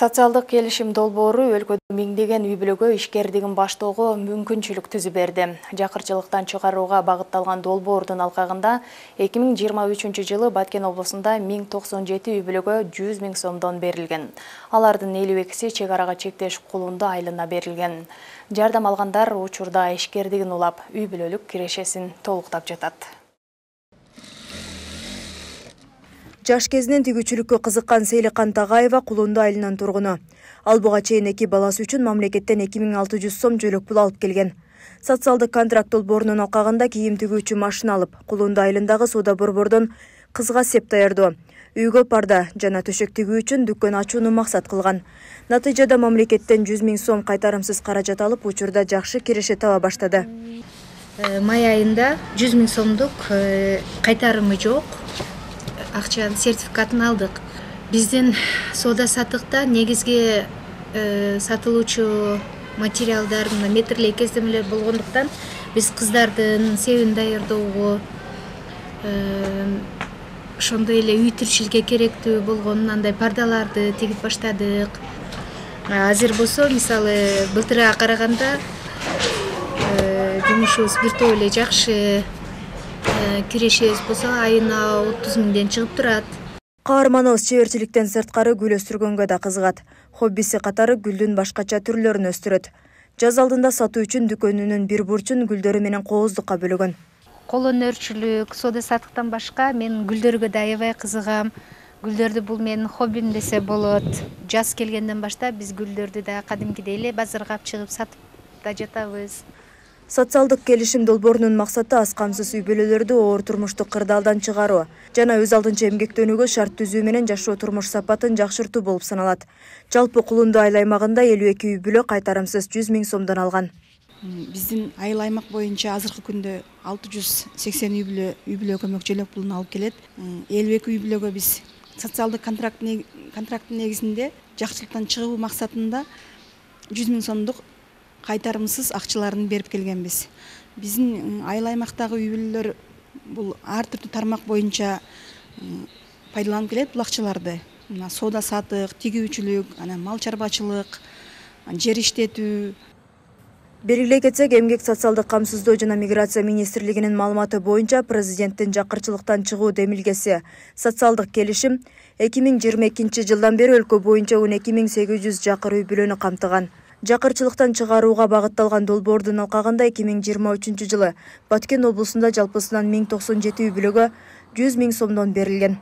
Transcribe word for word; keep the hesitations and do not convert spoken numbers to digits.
Социалдык келишим долбоору өлкөдө миңдеген үй-бүлөгө ишкердигин баштоого мүмкүнчүлүк түзүп берди. Жакырчылыктан чыгарууга багытталган долбоордун алкагында эки миң жыйырма үчүнчү жылы Баткен облусунда миң токсон жети үй-бүлөгө жүз миң сомдон берилген. Алардын элүү экиси чек арага чектеш кулунду айылына берилген. Жардам алгандар учурда ишкердигин улап, үй-бүлөлүк кирешесин толуктап жатат. Жаш кезинен тигүүчүлүккө кызыккан Сейликан Тагаева Кулунду айылынын тургуну. Ал буга чейин эки баласы үчүн мамлекеттен эки миң алты жүз сом жөлөк пул алып келген. Социалдык контракт долбоорунун алкагында кийим тигүүчү машина алып, Кулунду айылындагы соода борбордон кызга сеп даярдоо, үйгө парда жана төшөк тигүү үчүн дүкөн ачууну максат кылган. Натыйжада мамлекеттен жүз миң сом кайтарымсыз каражат алып, учурда жакшы киреше таба баштады. Май айында жүз миң сомдук кайтарымы жок. Акча сертификатын алдык. Биздин соода сатыкта негизги сатылуучу материалдар метрлей кездемелер болгондуктан биз кыздардын себин даярдоого, ошондой эле үй тирчиликке керектүү болгон андай пардаларды тигип баштадык. Азыр болсо, мисалы, былтырга караганда жумушубуз бир топ эле жакшы. Кирешебиз болсо айына отуз миңден чыгып турат. Каарманыбыз чеберчиликтен сырткары гүл өстүргөнгө да кызыгат. Хоббиси катары гүлдүн башкача түрлөрүн өстүрөт. Жаз алдында сатуу үчүн дүкөнүнүн бир бурчун гүлдөрү менен кооздукка бөлөгөн. Кол өнөрчүлүк, соода саттыктан башка мен гүлдөргө да аябай кызыгам. Гүлдөрдү бул менин хоббим десе болот. Жаз келгенден баштап биз гүлдөрдү да кадимкидей эле базарга алып чыгып сатып да жатабыз. Социалдык келишим долбоорунун максаты аз камсыз үй-бүлөлөрдү оор турмуштук кырдаалдан чыгаруу жана өз алдынча эмгектенүүгө шарт түзүү менен жашоо турмуш сапатын жакшыртуу болуп саналат. Жалпы Кулунду айыл аймагында элүү эки үй-бүлө кайтарымсыз жүз миң сомдон алган. Биздин айыл аймак боюнча азыркы күндө алты жүз сексен үй-бүлө үй-бүлө көмөк жөлөк пулун алып келет. элүү эки үй-бүлөгө биз социалдык контракттын негизинде жакчылыктан чыгуу максатында жүз миң сомдук кайтарымсыз акчаларын берип келгенбиз. Биздин айыл аймактагы үй-бүлөлөр бул ар түрдүү тармак боюнча пайдаланып келет бул акчаларды. Мына соода сатык, тигүүчүлүк, анан мал чарбачылык, жер иштетүү. Белгилей кетсек, Эмгек социалдык камсыздоо жана миграция министрлигинин маалыматы боюнча президенттин жакырчылыктан чыгуу демилгеси социалдык келишим эки миң жыйырма экинчи жылдан бери өлкө боюнча он эки миң сегиз жүз жакыр үй-бүлөнү камтыган. Жакырчылыктан чыгарууга багытталган долбоордун алкагында эки миң жыйырма үчүнчү жылы Баткен облусунда жалпысынан миң токсон жети үй-бүлөгө жүз миң сомдон берилген.